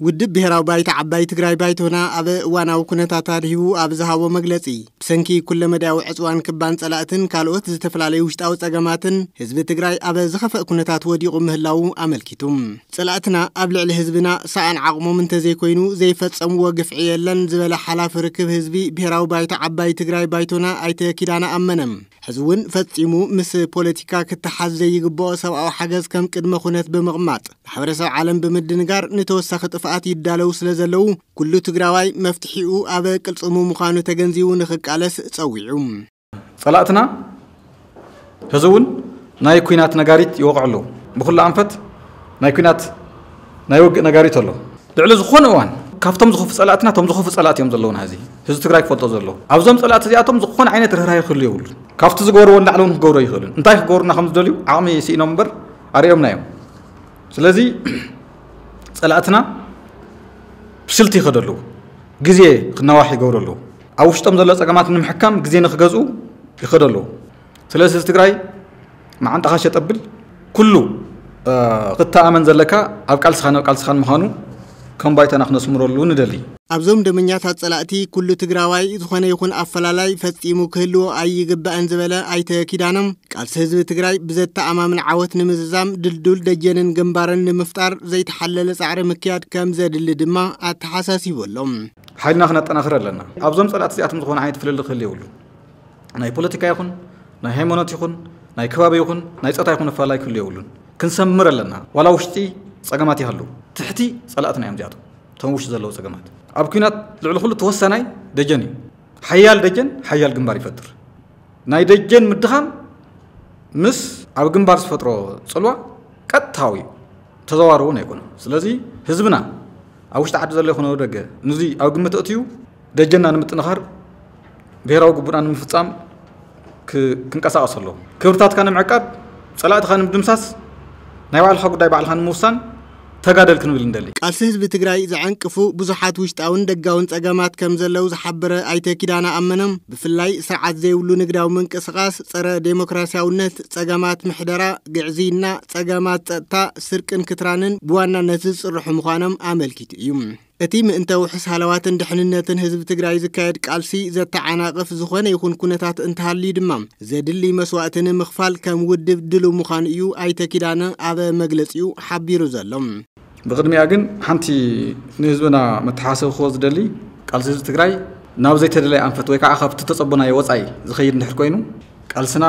ውድብ ብሄራዊ ባይቶ ዓባይ ትግራይ ባይቶና ኣብ እዋናዊ ኩነታት ኣድሂቡ ኣብ ዝሃቦ መግለጺ፣ ብሰንኪ ኩለመዳያዊ ዕፅዋን ክባን ጸላእትን ካልኦት ዝተፈላለዩ ውሽጣዊ ጸገማትን ህዝቢ ትግራይ ኣብ ዝኸፍአ ኩነታት ወዲቑ ምህላዉ ኣመልኪቱ። ጸላእትና ኣብ ልዕሊ ህዝብና ሰኣን ዓቕሞም እንተዘይኮይኑ ዘይፈጸምዎ ግፍዒ የለን ዝበለ ሓላፊ ርክብ ህዝቢ ብሄራዊ ባይቶ ዓባይ ትግራይ ባይቶና ኣይተ ኪዳነ ኣመነ፣ ሕዚ እውን ፈጺሙ ምስ ፖለቲካ ክተሓዝ ዘይግብኦ ሰብኣዊ ሓገዝ ከም ቅድመ ኩነት ብምቕማጥ ማሕበረሰብ ዓለም ብምድንጋር ንተወሳኺ ጥፍኣት ይዳለዉ ስለ ዘለዉ ኩሉ ትግራዋይ መፍትሒኡ ኣብ ቅልጽሙ ምዃኑ ተገንዚቡ ንኽቃለስ ጸዊዑ። ጸላእትና ሕዚ እውን ናይ ኲናት ነጋሪት ይወቕዑ ኣለዉ። ብኹሉ ኣንፈት ናይ ኲናት ናይ ውግእ ነጋሪት ኣሎ። ልዕሊ ዝኾነ እዋን ካብቶም ዝኸፉ ጸላእትና እቶም ዝኸፉ ጸላእት እዮም ዘለዉና። ሕዚ ህዝቢ ትግራይ ክፈልጦ ዘለዎ ኣብዞም ጸላእቲ እዚኣቶም ዝኾነ ዓይነት ርህራሄ ክህሉ የብሉን። ካብቲ ዝገበርዎ ንላዕሊ እውን ክገብሮ ይኽእሉን እንታይ ክገብሩና ከም ዝደልዩ ዓቕሚ ስኢኖም እምበር ኣርእዮምና እዮም። ስለዚ ጸላእትና ብስልቲ ይኸዱ ኣለዉ። ግዜ ክናዋሕ ይገብሩ ኣለዉ። ኣብ ውሽጦም ዘሎ ጸገማት ንምሕካም ግዜ ንክገዝኡ ይኸዱ ኣለዉ። ስለዚ ህዝቢ ትግራይ መዓንጣኻ ሸጥ ኣብል። ኩሉ ክትተኣመን ዘለካ ኣብ ቃልስኻን ኣብ ቃልስኻን ምዃኑ ከም ባይቶና ክነስምረሉ ንደሊ። ኣብዞም ደመኛታት ጸላእቲ ኩሉ ትግራዋይ ዝኾነ ይኹን ኣፈላላይ ፈጺሙ ክህልዎ ኣይግባእን ዝበለ ኣይተ ኪዳነ፣ ቃልሲ ህዝቢ ትግራይ ብዘተኣማምን ዓወት ንምዝዛም ድልዱል ደጀንን ግንባርን ንምፍጣር ዘይተሓለለ ጻዕሪ ምክያድ ከም ዘድሊ ድማ ኣተሓሳሲቡ ኣሎ። ሓይልና ክነጠናኽር ኣለና። ኣብዞም ጸላእቲ እዚኣቶም ዝኾነ ዓይነት ፍልልይ ክህሉ የብሉን። ናይ ፖለቲካ ይኹን ናይ ሃይማኖት ይኹን ናይ ከባቢ ይኹን ናይ ጾታ ይኹን ኣፈላላይ ክህሉ የብሉን። ክንሰምር ኣለና። ዋላ ውሽጢ ጸገማት ይሃሉ ትሕቲ ጸላእትና እዮም እዚኣቶም። እቶም ውሽጢ ዘለዉ ጸገማት ኣብ ኲናት ልዕሊ ኩሉ ተወሳናይ ደጀን እዩ። ሓያል ደጀን ሓያል ግንባር ይፈጥር። ናይ ደጀን ምድኻም ምስ ኣብ ግንባር ዝፈጥሮ ጽልዋ ቀጥታዊ እዩ። ተዘዋሪ እውን ኣይኮነን። ስለዚ ህዝብና ኣብ ውሽጢ ዓዲ ዘሎ ይኹን ኣብ ደገ ነዚ ኣብ ግምት ኣእትዩ ደጀንና ንምጥንኻር ብሄራዊ ግቡእና ንምፍጻም ክንቀሳቐስ ኣለዎ። ክብርታትካ ንምዕቃብ ጸላእትኻ ንምድምሳስ ናይ ባዕልኻ ጉዳይ ባዕልኻ ንምውሳን ተጋደል ክንብል ንደሊ። ቃልሲ ህዝቢ ትግራይ ዘዐንቅፉ ብዙሓት ውሽጣውን ደጋውን ጸገማት ከም ዘለዉ ዝሓበረ ኣይተ ኪዳነ ኣመነ፣ ብፍላይ ስርዓት ዘይብሉ ንግዳዊ ምንቅስቓስ፣ ጸረ ዴሞክራሲያውነት፣ ጸገማት ምሕደራ፣ ግዕዝይና፣ ጸገማት ጸጥታ፣ ስርቅን ክትራንን ብዋናነት ዝጽርሑ ምዃኖም ኣመልኪቱ እዩ። እቲ ምእንተ ውሑስ ሃለዋትን ድሕንነትን ህዝቢ ትግራይ ዝካየድ ቃልሲ ዘተዓናቕፍ ዝኾነ ይኹን ኩነታት እንተሃልዩ ድማ ዘድሊ መስዋእቲ ንምኽፋል ከም ውድብ ድሉው ምዃኑ እዩ ኣይተ ኪዳነ ኣብ መግለጺኡ ሓቢሩ ዘሎ። ብቕድሚኣ ግን ሓንቲ ንህዝብና መተሓሳሰቢ ክህቦ ዝደሊ ቃልሲ ህዝቢ ትግራይ ናብ ዘይተደለየ ኣንፈት ወይ ከዓ ካብቲ ተፀቦናዮ ወፃኢ ዝኸይድ እንድሕር ኮይኑ ቃልስና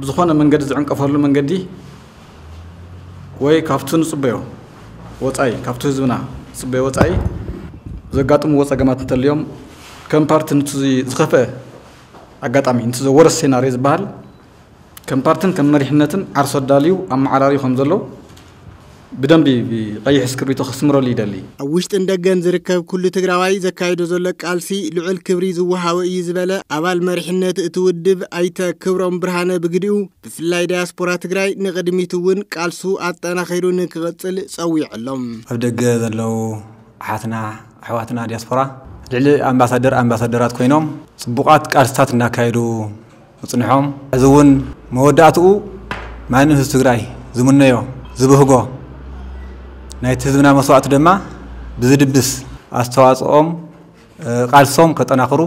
ብዝኾነ መንገዲ ዝዕንቀፈሉ መንገዲ ወይ ካብቲ ንፅበዮ ወፃኢ ካብቲ ህዝብና ዝፅበዮ ወፃኢ ዘጋጥምዎ ፀገማት እንተልዮም ከም ፓርቲ ንቲ ዝኸፍአ ኣጋጣሚ ንቲ ዘወረስ ሴናርዮ ዝበሃል ከም ፓርትን ከም መሪሕነትን ዓርሶ ኣዳልዩ ኣመዓራርዩ ከም ዘሎ ብደንቢ ብቐይሕ እስክርቢቶ ከስምረሉ ይደሊ። ኣብ ውሽጥን ደገን ዝርከብ ኩሉ ትግራዋይ ዘካይዶ ዘሎ ቃልሲ ልዑል ክብሪ ዝወሃቦ እዩ ዝበለ ኣባል መሪሕነት እቲ ውድብ ኣይተ ክብሮም ብርሃነ ብግዲኡ ብፍላይ ዳያስፖራ ትግራይ ንቕድሚት እውን ቃልሱ ኣጠናኺሩ ንክቕፅል ፀዊዑ ኣሎ። ኣብ ደገ ዘለዉ ኣሓትና ኣሕዋትና ዲያስፖራ ልዕሊ ኣምባሳደር ኣምባሳደራት ኮይኖም ፅቡቓት ቃልስታት እናካየዱ ምፅንሖም ሕዚ እውን መወዳእትኡ ማንም ህዝቢ ትግራይ ዝምነዮ ዝብህጎ ናይቲ ህዝብና መስዋእቲ ድማ ብዝድብስ ኣስተዋፅኦም ቃልሶም ከጠናኽሩ